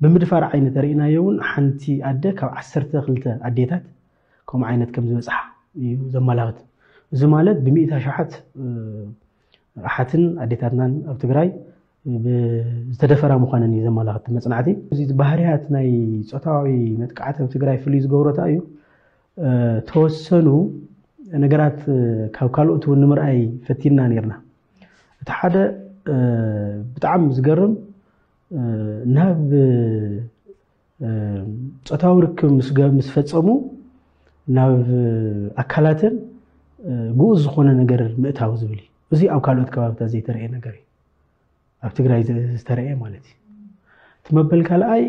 ብምድፋር ዓይኒ ተርእናዮ እውን ሓንቲ ኣደ ካብ ዓሰርተ ክልተ ኣዴታት ከምኡ ዓይነት ከም ዝበፅሓ እዩ ዘመላኽት። እዚ ማለት ብሚእታ ሸሓት ኣሓትን ኣዴታትናን ኣብ ትግራይ ዝተደፈራ ምዃነን እዩ ዘመላኽት መፅናዕቲ። እዚ ባህርያት ናይ ፆታዊ መጥቃዕቲ ኣብ ትግራይ ፍሉይ ዝገብረታ እዩ። ተወሰኑ ነገራት ካብ ካልኦት እውን ንምርኣይ ፈቲና ነርና። እቲ ሓደ ብጣዕሚ ዝገርም ናብ ፆታዊ ርክብ ምስ ፈፀሙ ናብ ኣካላተን ግኡዝ ዝኾነ ነገር ምእታው ዝብል እዩ። እዚ ኣብ ካልኦት ከባብታት ዘይተረእየ ነገር እዩ። ኣብ ትግራይ ዝተረእየ ማለት እዩ። እቲ መበል ካልኣይ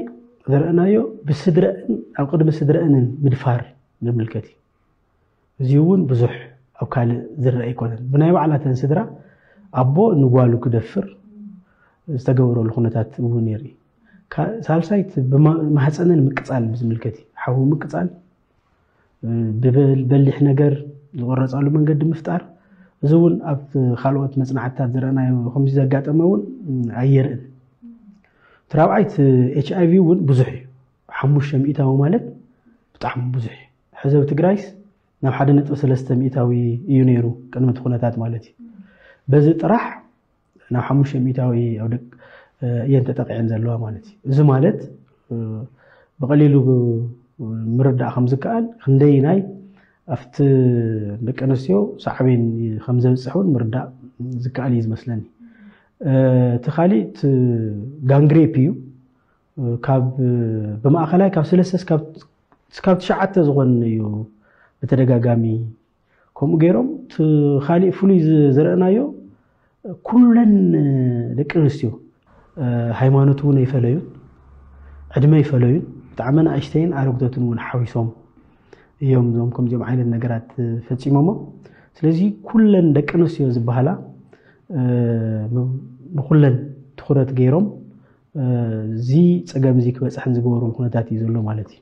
ዘረእናዮ ብስድረአን ኣብ ቅድሚ ስድረአንን ምድፋር ዝምልከት እዩ። እዚ እውን ብዙሕ ኣብ ካልእ ዝረአ ኣይኮነን። ብናይ ባዕላተን ስድራ ኣቦ ንጓሉ ክደፍር ዝተገበረሉ ኩነታት እውን የርኢ። ሳልሳይ ማህፀነን ምቅፃል ብዝምልከት እዩ። ሓዊ ምቅፃል፣ ብበሊሕ ነገር ዝቆረፃሉ መንገዲ ምፍጣር። እዚ እውን ኣብ ካልኦት መፅናዕትታት ዝረእናዮ ከምዚ ዘጋጠመ እውን ኣየርእን። እቲ ራብዓይ እቲ ኤች ኣይ ቪ እውን ብዙሕ እዩ። ሓሙሽተ ሚእታዊ ማለት ብጣዕሚ ብዙሕ እዩ። ሕዚ ኣብ ትግራይስ ናብ ሓደ ነጥቢ ሰለስተ ሚእታዊ እዩ ነይሩ ቅድሚ እቲ ኩነታት ማለት እዩ። በዚ ጥራሕ ናብ ሓሙሽተ ሚእታዊ ኣብ ደቂ እየን ተጠቂዐን ዘለዋ ማለት እዩ። እዚ ማለት ብቐሊሉ ምርዳእ ከም ዝከኣል ክንደይናይ ኣብቲ ደቂ ኣንስትዮ ሳዕቤን ከም ዘብፅሕ እውን ምርዳእ ዝከኣል እዩ ዝመስለኒ። እቲ ካሊእ እቲ ጋንግሬፕ እዩ። ካብ ብማእኸላይ ካብ ሰለስተ እስካብ ትሽዓተ ዝኾን እዩ ብተደጋጋሚ ከምኡ ገይሮም። እቲ ካሊእ ፍሉይ ዝረእናዮ ኩለን ደቂ ኣንስትዮ ሃይማኖት እውን ኣይፈለዩን፣ ዕድመ ኣይፈለዩን፣ ብጣዕሚ ንኣሽተይን ኣረግቶትን እውን ሓዊሶም እዮም እዞም ከምዚኦም ዓይነት ነገራት ፈፂሞሞ። ስለዚ ኩለን ደቂ ኣንስትዮ ዝበሃላ ንኩለን ትኩረት ገይሮም እዚ ፀገም እዚ ክበፅሐን ዝገበሩ ኩነታት እዩ ዘሎ ማለት እዩ።